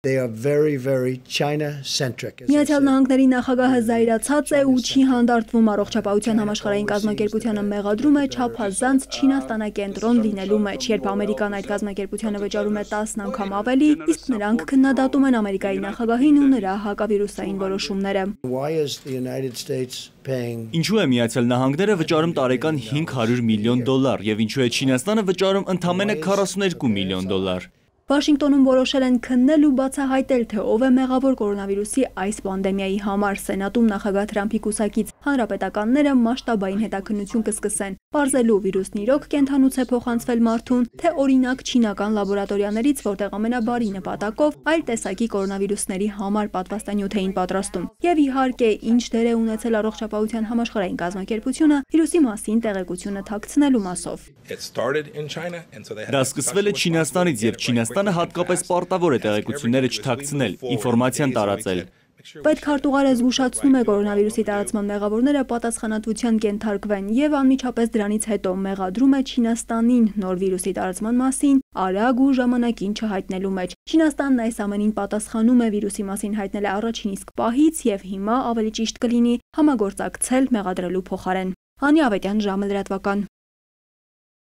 They are very China-centric. Միացյալ Նահանգների նախագահը զայրացած է ու չի հանդարտվում առողջապահության համաշխարհային կազմակերպությանը մեղադրում է չափազանց Չինաստանակենտրոն լինելու մեջ, երբ Ամերիկան այդ կազմակերպությանը վճարում է 10 անգամ ավելի, իսկ նրանք քննադատում են Ամերիկայի նախագահին ու նրա հակավիրուսային որոշումները։ Ինչու է Միացյալ Նահանգները վճարում տարեկան $500 միլիոն եւ ինչու է Չինաստանը վճարում ընդամենը $42 միլիոն։ Վաշինգտոնում որոշել են քննել ու բացահայտել, թե ով է մեղավոր կորոնավիրուսի այս պանդեմիայի համար։ Սենատում նախագահ Թրամփի կուսակից հանրապետականները մասշտաբային հետաքննություն կսկսեն, պարզելու վիրուսն իրոք կենդանուց է փոխանցվել մարդուն, թե օրինակ չինական լաբորատորիաներից, որտեղ ամենաբարի նպատակով այլ տեսակի կորոնավիրուսների համար պատվաստանյութ էին պատրաստում։ Եվ իհարկե, ինչ դեր է ունեցել առողջապահության համաշխարհային կազմակերպությունը վիրուսի մասին տեղեկությունը թաքցնելու մասով։ Դա սկսվել է Չինաստանից եւ Չինաստանը հատկապես պարտավոր է տեղեկությունները չթաքցնել, ինֆորմացիան տարածել։ Պետքարտուղարը զգուշացնում է կորոնավիրուսի տարածման մեղավորները պատասխանատվության կենթարկվեն եւ անմիջապես դրանից հետո մեղադրում է Չինաստանին նոր վիրուսի տարածման մասին արագ ու ժամանակին չհայտնելու մեջ։ Չինաստանն այս ամենին պատասխանում է վիրուսի մասին հայտնել է առաջին իսկ պահից եւ հիմա ավելի ճիշտ կլինի համագործակցել մեղադրելու փոխարեն։ Անի Ավետյան, ժամը լրատվական։